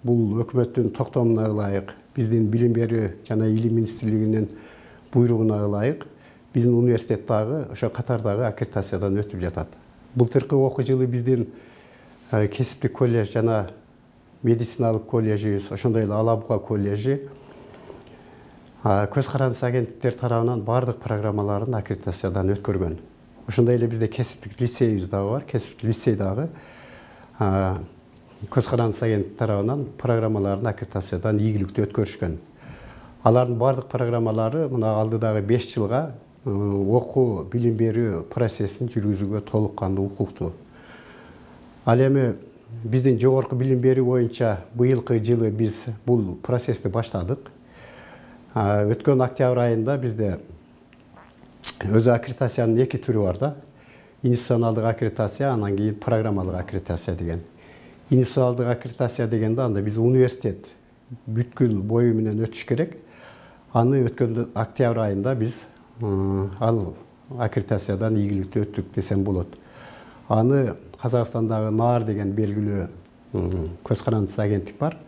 бул өкмөттүн токтомуна ылайык, биздин билим берүү жана илим министрлигинин буйругуна ылайык биздин университет дагы ошо катардагы аккредитациядан өтүп жатат. Былтыркы окуу жылы биздин кесиптик колледж жана медициналык колледжибиз, ошондой эле Ала Буга колледжи көз карандысы агенттиктер тарабынан бардык программаларын аккредитациядан өткөргөн. Ошондой эле бизде кесиптик лицейибиз дагы бар. Кесиптик лицей дагы көз карандысы агенттик тарабынан программаларын аккредитациядан ийгиликтүү өткөрүшкөн. Алардын бардык программалары мына алдыдагы 5 жылга окуу билим берүү процессин жүргүзүүгө толук кандуу укуктуу. Ал эми биздин жогорку билим берүү боюнча быйылкы жылы биз бул процессти баштадык. Өткөн октябрь айында бизде өзү аккредитациянын 2 түрү бар да. Институционалдык аккредитация, анан кийин программалык аккредитация деген. Институционалдык аккредитация дегенде анда биз университет бүткүл бою менен өтүш керек. Аны өткөн октябрь айында биз ал аккредитациядан ийгиликтүү өттүк десем болот. Аны Казакстандагы НААР деген белгилүү көз карандысы агенттик бар.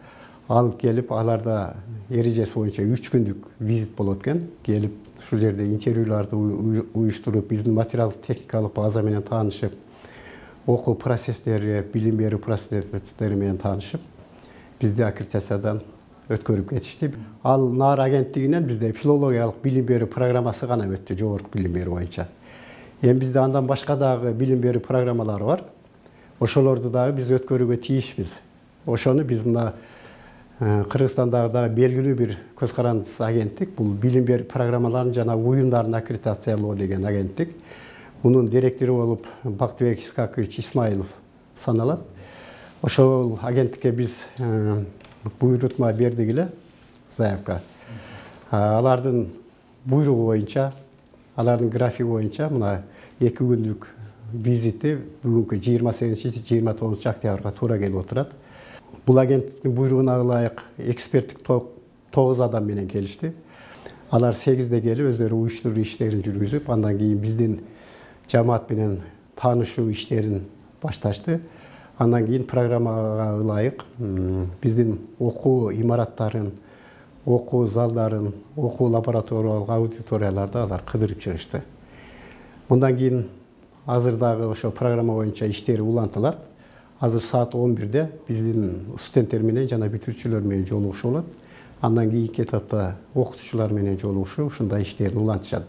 Ал келип, аларда эрежеси боюнча 3 күндүк визит болот экен. Келип, ушул жерде интервьюларды уюштуруп, биздин материалдык техникалык база менен таанышып, окуу процесстери, билим берүү процесстери менен таанышып, бизди аккредитациядан өткөрүп кетишти. Ал НААР агенттигинен бизде филологиялык билим берүү программасы гана өттү, жогорку билим берүү боюнча. Эми бизде андан башка дагы билим берүү программалары бар. Ошолорду дагы биз өткөрүүгө тийишпиз. Ошону биз мына Кыргызстандагы дагы белгилүү бир көз карандысы агенттик, бул билим берүү программаларын жана уюмдарын аккредитациялоо деген агенттик. Мунун директору болуп Бактыбек Искакович Исмаилов саналат. Ошол агенттикке биз буйрутма бердик эле, заявка. Алардын буйругу боюнча, алардын графиги боюнча мына 2 күндүк визити бүгүнкү 28-29 октябрга туура келип отурат. Бул агенттиктин буйругуна ылайык эксперттик топ 9 адам менен келишти. Алар 8де келип өздөрү уюштуруу иштерин жүргүзүп, андан кийин биздин жамаат менен таанышуу иштерин башташты. Андан кийин программага ылайык биздин окуу имараттарын, окуу залдарын, окуу лабораториялык аудиторияларды алар кыдырып чыгышты. Мындан кийин азыр дагы ошо программа боюнча иштери улантылат. Азыр саат 11-де биздин студенттер менен жана бүтүрүүчүлөр менен жолугушуу болот. Андан кийинки этапта окутуучулар менен жолугушуу ушундай иштерин улантышат.